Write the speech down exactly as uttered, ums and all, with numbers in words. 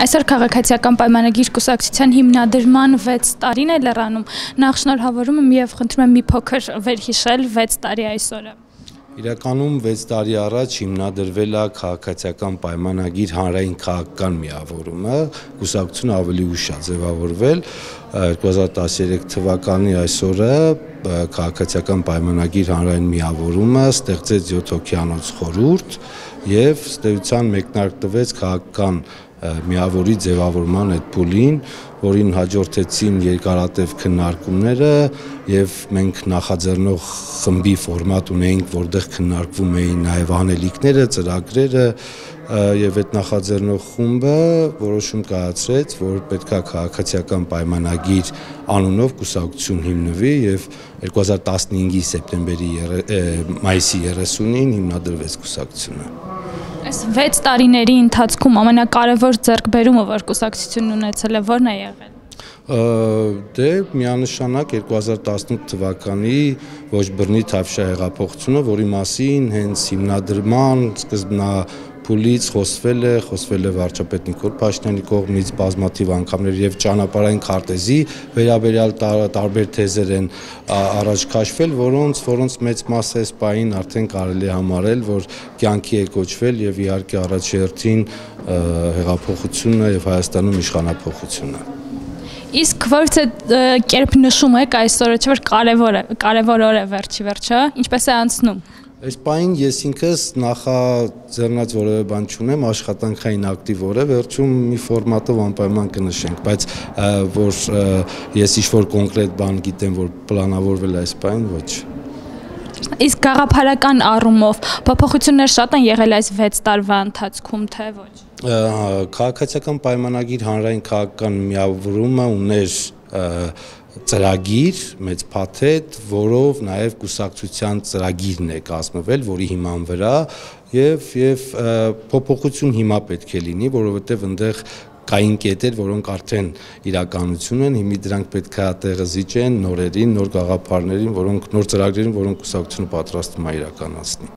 Այսօր քաղաքացիական պայմանագիր կուսակցության հիմնադրման վեց տարին է լրանում, նախ շնորհավորում եմ և խնդրում եմ մի փոքր վերհիշել վեց տարի այսօրը։ Իրականում վեց տարի առաջ հիմնադրվել է քաղաքացիական պայմանագիր հանրային քաղաքական միավորումը, կուսակցությունը ավելի ուշ է ձևավորվել, երկու հազար տասներեք թվականի այսօրը քաղաքացիական պայմանագիր հանրային միավորումը ստեղծեց յոթ հոգյանոց խորհուրդ և ըստ էության մեկնարկ տվեց քաղաքական միավորի ձևավորման այդ փուլին, որին հաջորդեցին երկարատև քննարկումները և մենք նախաձեռնող խմբի ֆորմատ ունեինք, որտեղ քննարկվում էին նաև անելիքները, ծրագրերը և այդ նախաձեռնող խումբը որոշում կայացրեց, որ պետք է քաղաքացիական պայմանագիր անունով կուսակցություն հիմնվի և երկու հազար տասնհինգի սեպտեմբերի մայիսի երեսունին հիմնադրվեց կուսակցությունը։ Այս վեց տարիների ընթացքում ամենակարևոր ձեռքբերումը, որ կուսակցությունն ունեցել է, ո՞րն է եղել։ Դե միանշանակ երկու հազար տասնութ թվականի ոչ բռնի Թավշյա հեղափոխությունը, որի մասին հենց հիմնադրման սկզբնափուլից խոսվել է, խոսվել է վարչապետ Նիկոլ Փաշինյանի կողմից բազմաթիվ անգամներ և ճանապարհային քարտեզի վերաբերյալ տարբեր թեզեր են առաջ քաշվել, որոնց որոնց մեծ մասը այս պահին արդեն կարելի է համարել, որ կյանքի է կոչվել և իհարկե առաջերտին հեղափոխությունը և Հայաստանում իշխանափոխությունը։ Իսկ որևէ կերպ նշում եք այսօրը, չէ՞ որ կարևոր է, կարևոր օր է վերջի վերջը, ինչպես է անցնում։ Այս պահին ես ինքս նախաձեռնած որևէ բան չունեմ, աշխատանքային ակտիվ օր է, վերջում մի ֆորմատով անպայման կնշենք, բայց որ ես ինչ-որ կոնկրետ բան գիտեմ, որ պլանավորվել է այս պահին, ոչ։ Իսկ գաղափարական առումով փոփոխություններ շատ են եղել այս վեց տարվա ընթացքում, թե ոչ։ Քաղաքացիական պայմանագիր հանրային քաղաքական միավորումը ուներ ծրագիր, մեծ փաթեթ, որով նաև կուսակցության ծրագիրն է կազմվել, որի հիման վրա և և փոփոխություն հիմա պետք է լինի, որովհետև այնտեղ կային կետեր, որոնք արդեն իրականություն են, հիմա դրանք պետք է տեղը զիջեն նորերին, նոր գաղափարներին, որոնք նոր ծրագրերին, որոնք կուսակցությունը պատրաստվում է իրականացնի։